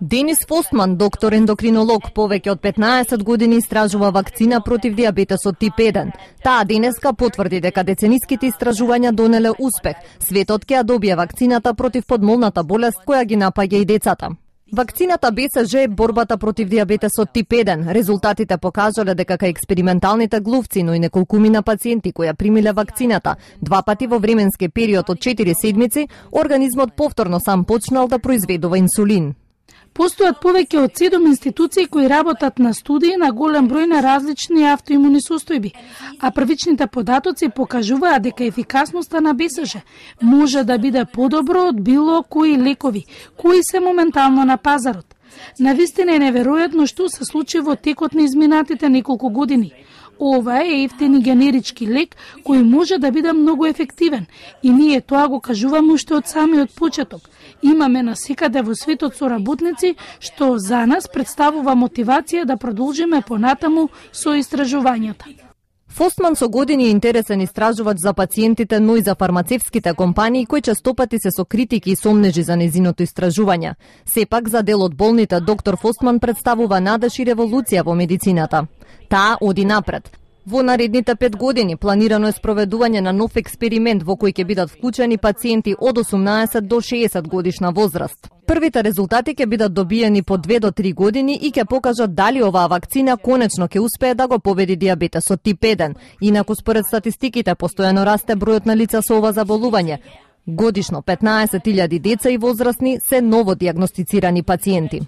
Денис Фостман, доктор ендокринолог, повеќе од 15 години истражува вакцина против диабетесот тип 1. Таа денеска потврди дека децениските истражувања донеле успех. Светот ќе ја добие вакцината против подмолната болест која ги напаѓа и децата. Вакцината БЦЖ е борбата против диабетесот тип 1. Резултатите покажале дека кај експерименталните глувци, но и неколкумина пациенти кои ја примиле вакцината 2 пати во временски период од 4 седмици, организмот повторно сам почнал да произведува инсулин. Постојат повеќе од 7 институции кои работат на студии на голем број на различни автоимуни состојби, а првичните податоци покажуваат дека ефикасноста на БЦЖ може да биде подобро од било кои лекови, кои се моментално на пазарот. Навистина е неверојатно што се случи во текот на изминатите неколку години. Ова е ефтин и генерички лек кој може да биде многу ефективен и ние тоа го кажуваме уште од самиот почеток. Имаме насекаде во светот соработници што за нас представува мотивација да продолжиме понатаму со истражувањата. Фостман со години е интересен истражувач за пациентите, но и за фармацевските компании кои честопати се со критики и сомнежи за незиното истражување. Сепак за дел од болните доктор Фостман представува надеж и револуција во медицината. Таа оди напред. Во наредните 5 години планирано е спроведување на нов експеримент во кој ќе бидат вклучени пациенти од 18 до 60 годишна возраст. Првите резултати ќе бидат добиени по 2 до 3 години и ќе покажат дали оваа вакцина конечно ќе успее да го победи диабетесот тип 1. Инаку според статистиките постојано расте бројот на лица со ова заболување. Годишно 15.000 деца и возрастни се ново дијагностицирани пациенти.